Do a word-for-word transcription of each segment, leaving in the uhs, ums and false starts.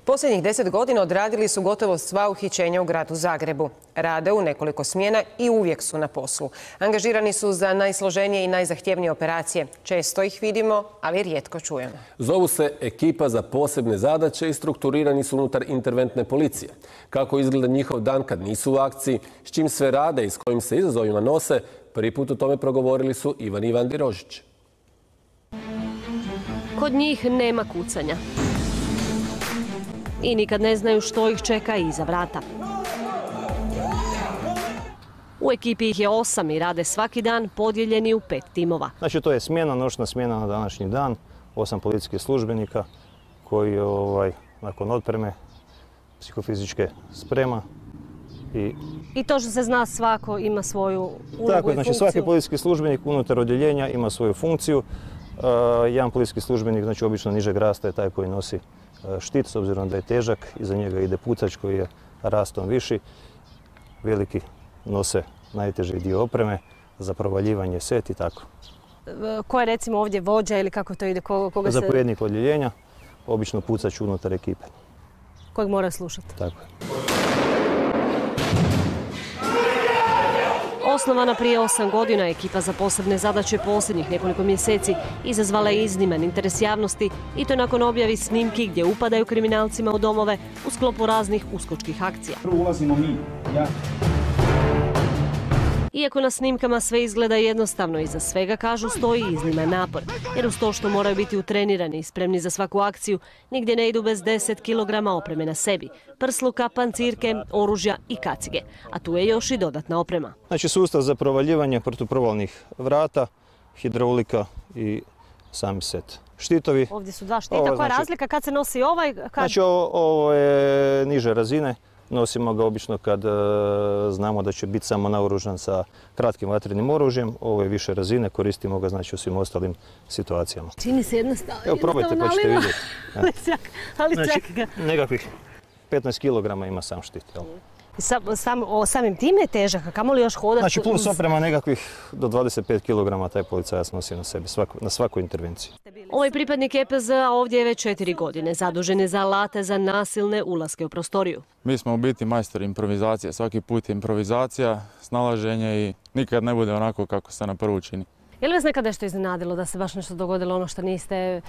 Posljednjih deset godina odradili su gotovo sva uhićenja u gradu Zagrebu. Rade u nekoliko smjena i uvijek su na poslu. Angažirani su za najsloženije i najzahtjevnije operacije. Često ih vidimo, ali rijetko čujemo. Zovu se ekipa za posebne zadaće i strukturirani su unutar interventne policije. Kako izgleda njihov dan kad nisu u akciji, s čim sve rade i s kojim se izazovima nose, prvi put o tome progovorili su Ivan i Ivandi Rožić. Kod njih nema kucanja. I nikad ne znaju što ih čeka iza vrata. U ekipi ih je osam i rade svaki dan podijeljeni u pet timova. Znači to je smjena, noćna smjena na današnji dan, osam policijskih službenika koji ovaj, nakon otpreme psihofizičke sprema. I, I to što se zna svako ima svoju ulogu tako, i znači, funkciju. svaki policijski službenik unutar odjeljenja ima svoju funkciju. Uh, jedan policijski službenik, znači obično nižeg rasta, je taj koji nosi uh, štit, s obzirom da je težak. Iza njega ide pucač koji je rastom viši. Veliki nose najteži dio opreme za provaljivanje, set i tako. Ko je recimo ovdje vođa ili kako to ide? Koga se... Zapovjednik odjeljenja, obično pucač unutar ekipe. Kojeg mora slušati. Tako je. Osnovana prije osam godina, ekipa za posebne zadaće posljednjih nekoliko mjeseci izazvala je izniman interes javnosti i to nakon objavi snimki gdje upadaju kriminalcima u domove u sklopu raznih uskočkih akcija. Prvo ulazimo mi, ja. Iako na snimkama sve izgleda jednostavno, iza svega, kažu, stoji izniman napor. Jer uz to što moraju biti utrenirani i spremni za svaku akciju, nigdje ne idu bez deset kilograma opreme na sebi. Prsluka, pancirke, oružja i kacige. A tu je još i dodatna oprema. Znači sustav za provaljivanje protuprovalnih vrata, hidraulika i sami set. Štitovi. Ovdje su dva štita. Ovo, Koja je znači, razlika kad se nosi ovaj? Kad... Znači ovo, ovo je niže razine. Nosimo ga obično kad e, znamo da će biti samo naoružan sa kratkim vatrenim oružjem. Ovo je više razine, koristimo ga znači u svim ostalim situacijama. Čini se jednostavno. Evo probajte pa ćete vidjeti. ali čak, ali znači, čak ga. Nekakvih petnaest kilograma ima sam štit. Jel? Sam, sam, o, samim tim je težak, a kamo li još hodati? Znači plus oprema nekakvih do dvadeset pet kilograma taj policajac nosi na sebi svako, na svakoj intervenciji. Ovaj pripadnik E P Z-a ovdje je već četiri godine, zadužen je za alate za nasilne ulaske u prostoriju. Mi smo u biti majstori improvizacije, svaki put je improvizacija, snalaženje i nikad ne bude onako kako se na prvu čini. Je li vas nekad nešto iznenadilo da se baš nešto dogodilo, ono što niste...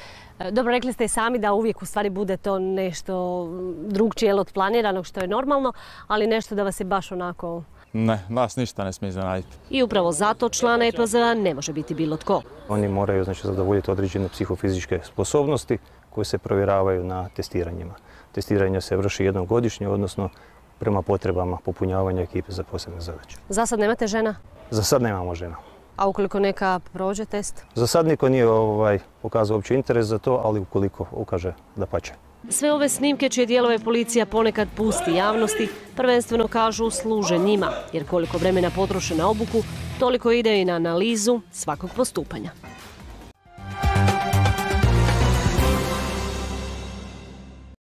Dobro, rekli ste i sami da uvijek u stvari bude to nešto drugčije od planiranog, što je normalno, ali nešto da vas je baš onako... Ne, nas ništa ne smije iznenaditi. I upravo zato člana E P Z-a ne može biti bilo tko. Oni moraju znači, zadovoljiti određene psihofizičke sposobnosti koje se provjeravaju na testiranjima. Testiranje se vrši jednom godišnje, odnosno prema potrebama popunjavanja ekipe za posebne zadaće. Za sad nemate žena? Za sad nemamo žena. A ukoliko neka prođe test? Za sad niko nije ovaj, pokazao uopće interes za to, ali ukoliko ukaže, dapače. Sve ove snimke čije dijelove policija ponekad pusti javnosti, prvenstveno kažu služe njima, jer koliko vremena potroše na obuku, toliko ide i na analizu svakog postupanja.